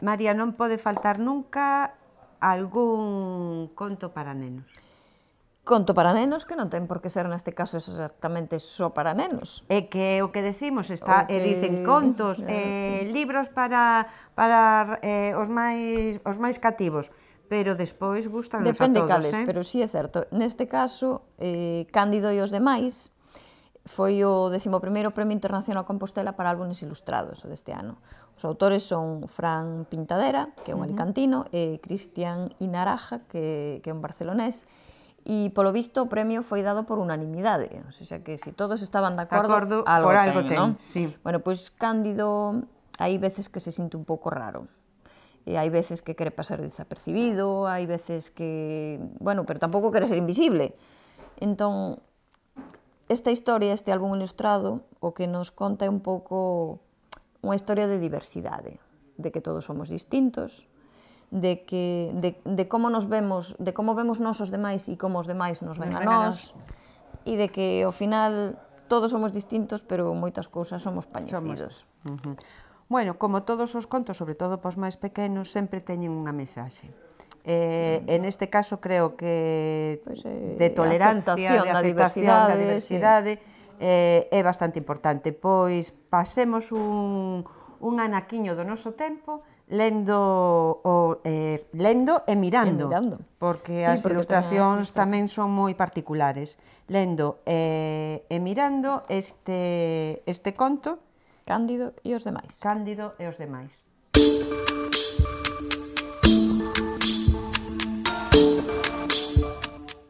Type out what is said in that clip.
María, non pode faltar nunca algún conto para nenos. Conto para nenos que non ten por que ser neste caso exactamente só para nenos. É que o que decimos está, dicen contos, libros para os máis cativos, pero despois gustanos a todos. Depende cales, pero sí é certo. Neste caso, Cándido e os demais foi o 11º Premio Internacional Compostela para álbumes ilustrados deste ano. Os autores son Fran Pintadera, que é un alicantino, e Cristian Inaraja, que é un barcelonés, e polo visto o premio foi dado por unanimidade, o sea que se todos estaban de acordo, algo ten, non? Sí. Bueno, pois Cándido hai veces que se sinte un pouco raro, e hai veces que quere pasar desapercibido, hai veces que, bueno, pero tampouco quere ser invisible. Entón, esta historia, este álbum ilustrado, o que nos conta é un pouco unha historia de diversidade, de que todos somos distintos, de como nos vemos, de como vemos nós os demais e como os demais nos ven a nós, e de que ao final todos somos distintos, pero moitas cousas somos parecidos. Bueno, como todos os contos, sobre todo para os máis pequenos, sempre teñen unha mensaxe. En este caso creo que de tolerancia, de aceptación da diversidade, é bastante importante, pois pasemos un anaquiño do noso tempo lendo e mirando, porque as ilustracións tamén son moi particulares. Lendo e mirando este conto, Cándido e os demais. Cándido e os demais.